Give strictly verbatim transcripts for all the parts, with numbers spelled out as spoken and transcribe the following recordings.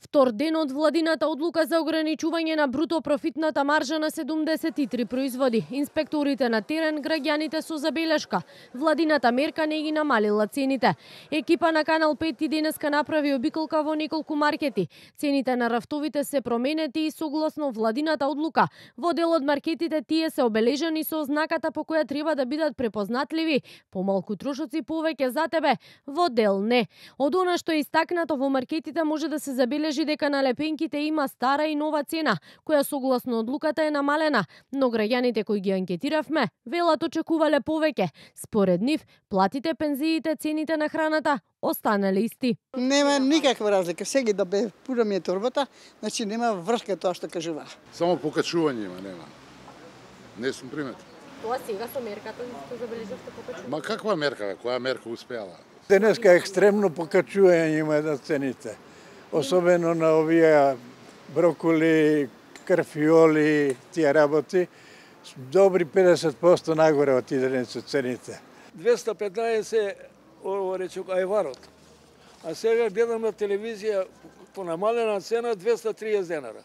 Втор ден од владината одлука за ограничување на бруто профитната маржа на седумдесет и три производи. Инспекторите на терен, граѓаните со забелешка. Владината мерка не ги намалила цените. Екипа на Канал пет и денеска направи обиколка во неколку маркети. Цените на рафтовите се променети и согласно владината одлука. Во дел од маркетите тие се обележани со ознаката по која треба да бидат препознатливи. Помалку трошоци, повеќе за тебе. Во дел не. Од она што е истакнато во маркетите може да се забележи дека на лепенките има стара и нова цена, која согласно одлуката е намалена, но граѓаните кои ги анкетиравме велат очекувале повеќе. Според нив, платите, пензиите, цените на храната останале исти. Нема никаква разлика. Сега да бе пура ми е торбата, значи нема врска тоа што кажува. Само покачување има, нема. Не сум приметен. Тоа сега со мерката што забележавте покачување? Ма каква мерка, која мерка успеала? Денеска екстремно покачување има на цените. Особено на овие броколи, карфиоли, тие работи, добри педесет проценти нагоре отидени со цените. двеста и петнаесет речок ајварот. А сега гледам на телевизија по намалена цена двеста и триесет денара.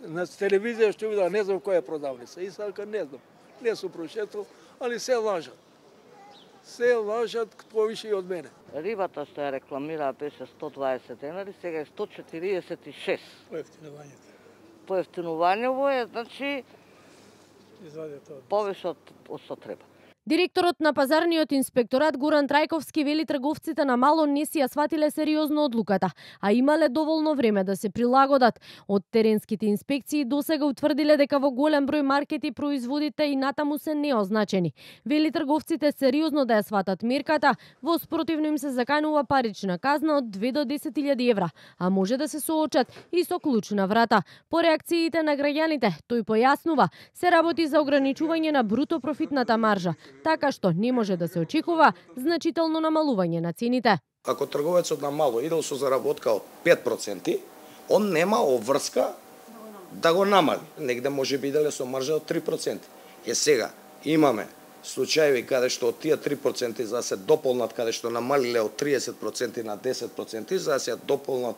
На телевизија што видам, не знам која продавница. И сега не знам. Не сум прошетал, али се лажат. Се лажат повише и од мене. Рибата што ја рекламираа беше сто дваесет денари, сега е сто четириесет и шест. Поевтинувањето. Поевтинувањево е, значи, повише од што треба. Директорот на пазарниот инспекторат Горан Трајковски вели трговците на мало не си ја сватиле сериозно одлуката, а имале доволно време да се прилагодат. Од теренските инспекции досега утврдиле дека во голем број маркети производите и натаму се неозначени. Вели трговците сериозно да ја сватат мерката, во спротивно им се заканува парична казна од две до десет илјади евра, а може да се соочат и со клучна врата. По реакциите на граѓаните, тој појаснува, се работи за ограничување на бруто профитната маржа, така што не може да се очекува значително намалување на цените. Ако трговецот на мало идел со заработка од пет проценти, он нема обврска да го намали. Негде може би иделе со маржа од три проценти. Е сега имаме случаеви каде што од тие три проценти за да се дополнат, каде што намалиле од триесет проценти на десет проценти, за да се дополнат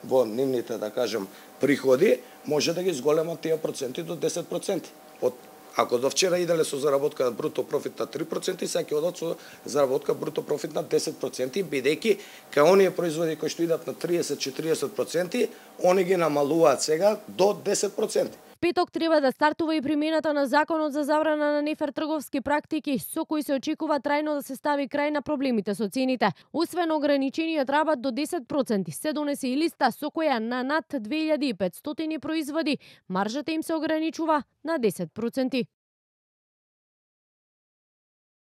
во нивните, да кажем, приходи, може да ги зголемат тие проценти до десет проценти. Од Ако до вчера иделе со заработка бруто профит на три проценти, сега ќе одат со заработка бруто профит на десет проценти, бидејќи кај оние производи кои што идат на триесет до четириесет проценти, они ги намалуваат сега до десет проценти. Петок треба да стартува и примената на Законот за забрана на нефер трговски практики, со кој се очекува трајно да се стави крај на проблемите со цените. Освен ограничениот рабат до десет проценти, се донесе и листа со која на над две илјади и петстотини производи маржата им се ограничува на десет проценти.